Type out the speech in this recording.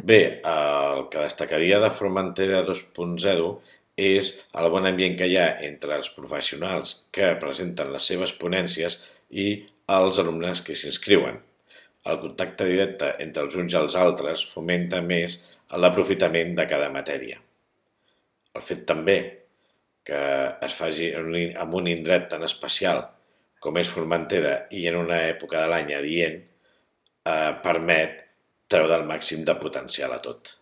Bé, el que destacaria de Formentera 2.0 és el bon ambient que hi ha entre els professionals que presenten les seves ponències i els alumnes que s'hi inscriuen. El contacte directe entre els uns i els altres fomenta més l'aprofitament de cada matèria. El fet també que es faci en un indret tan especial com és Formentera i en una època de l'any adient permet treure el màxim de potencial a tot.